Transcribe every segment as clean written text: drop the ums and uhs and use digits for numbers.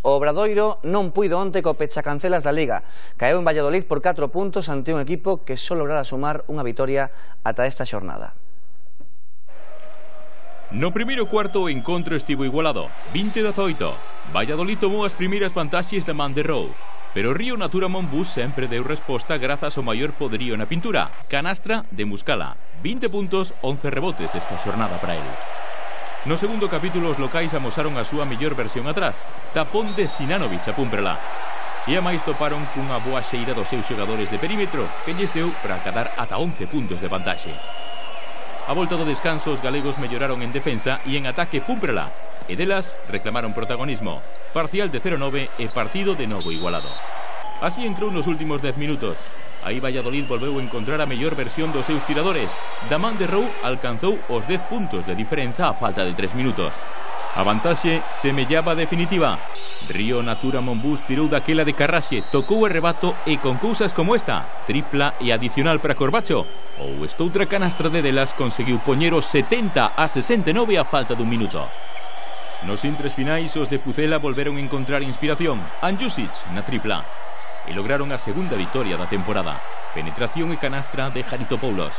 O Obradoiro non puido onte co pechacancelas da Liga. Caeu en Valladolid por 4 puntos ante un equipo que só lograra sumar unha vitoria ata esta xornada. No primeiro cuarto o encontro estivo igualado, 20-18. Valladolid tomou as primeiras vantaxes da man de Rou, pero Río Natura Monbús sempre deu resposta grazas ao maior poderío na pintura. Canastra de Muscala, 20 puntos, 11 rebotes esta xornada para el. No segundo capítulo os locais amosaron a súa mellor versión atrás, tapón de Sinanovic a Púmprela. E a máis toparon cunha boa xeira dos seus xogadores de perímetro, que lles deu para acadar ata 11 puntos de vantaxe. A volta do descanso os galegos melloraron en defensa e en ataque Púmprela, e delas reclamaron protagonismo. Parcial de 0-9 e partido de novo igualado. Así entrou nos últimos 10 minutos. Aí Valladolid volveu a encontrar a mellor versión dos seus tiradores. Da man de Rou alcanzou os 10 puntos de diferenza a falta de 3 minutos. A vantaxe semellaba definitiva. Río Natura Monbús tirou daquela de Carraxe, tocou o rebato e con cousas como esta, tripla e adicional para Corbacho, ou estoutra canastra de delas conseguiu poñer os 70-69 a falta dun minuto. Nos intres finais os de Pucela volveron a encontrar inspiración. Anjusic na tripla. E lograron a segunda vitoria da temporada. Penetración e canastra de Haritopoulos.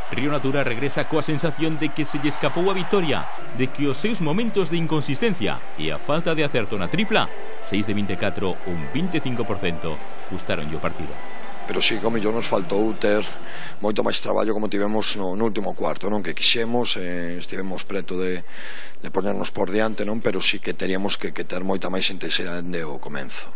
Río Natura regresa coa sensación de que se lle escapou a vitoria, de que os seus momentos de inconsistencia e a falta de acerto na tripla, 6 de 24, un 25%, gustaronlle o partido. Pero sí, como mellor nos faltou ter moito máis traballo como tivemos no último cuarto, non? Que quixemos, estivemos preto de ponernos por diante, non? Pero sí que teríamos que ter moita máis intensidade ao comenzo.